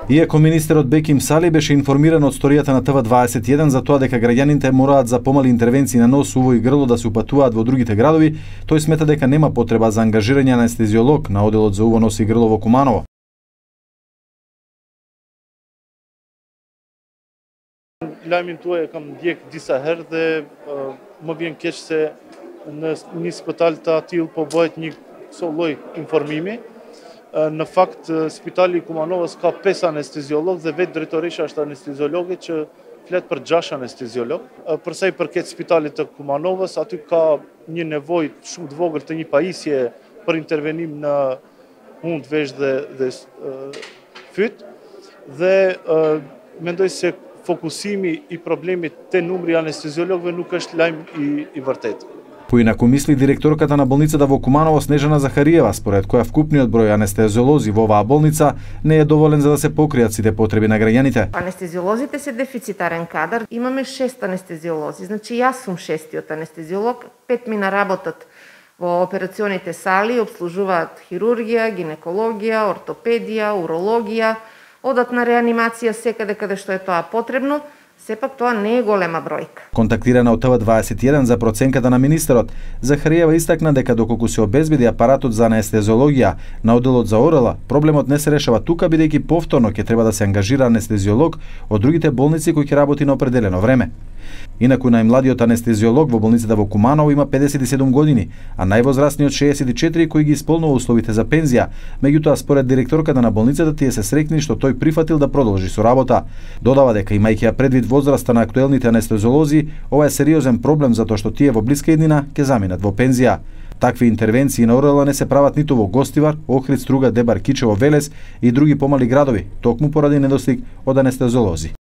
Иако министерот Беким Сали беше информиран од сторијата на ТВ21 за тоа дека граѓаните мораат за помали интервенции на нос, уво и грло да се упатуваат во другите градови, тој смета дека нема потреба за ангажирање на анестезиолог на оделот за уво, нос и грло во Куманово. Lajmin tuaj e kam ndjek disa herë dhe më vjen keq se në një spital të atill po bëhet një këso lloj informimi. Në fakt, spitali i Kumanovës ka 5 anesteziolog dhe vetë drejtoresha është anesteziologe që flet për 6 anesteziolog. Për sa i përket spitalit të Kumanovës, aty ka një nevojë shumë të vogël të një pajisje për intervenim në hund, vesh dhe fyt dhe mendoj se fokusimi i problemit te numri anesteziologëve nuk është lajm i vërtetë. Поинаку мисли директорката на болницата во Куманово Снежана Захариева, според која вкупниот број анестезиолози во оваа болница не е доволен за да се покријат сите потреби на граѓаните. Анестезиолозите се дефицитарен кадар. Имаме 6 анестезиолози. Значи јас сум 6-тиот анестезиолог, 5 мина работат во операционите сали, обслужуваат хирургија, гинекологија, ортопедија, урологија, одат на реанимација секаде каде што е тоа потребно. Сепак тоа не е голема бројка. Контактирана од ТВ21 за проценката на министерот, Захариева истакна дека доколку се обезбеди апаратот за анестезиологија на оделот за ОРЛ, проблемот не се решава тука, бидејќи повторно ќе треба да се ангажира анестезиолог од другите болници кој ќе работи на определено време. Инаку најмладиот анестезиолог во болницата во Куманово има 57 години, а највозрастниот 64 кој ги исполнува условите за пензија. Меѓутоа, според директорката на болницата, тие се среќни што тој прифатил да продолжи со работа. Додава дека имајќи ја предвид возраста на актуелните анестезиолози, ова е сериозен проблем затоа што тие во блиска иднина ќе заминат во пензија. Такви интервенции на ОРЛ не се прават ниту во Гостивар, Охрид, Струга, Дебар, Кичево, Велес и други помали градови, токму поради недостиг од анестезиолози.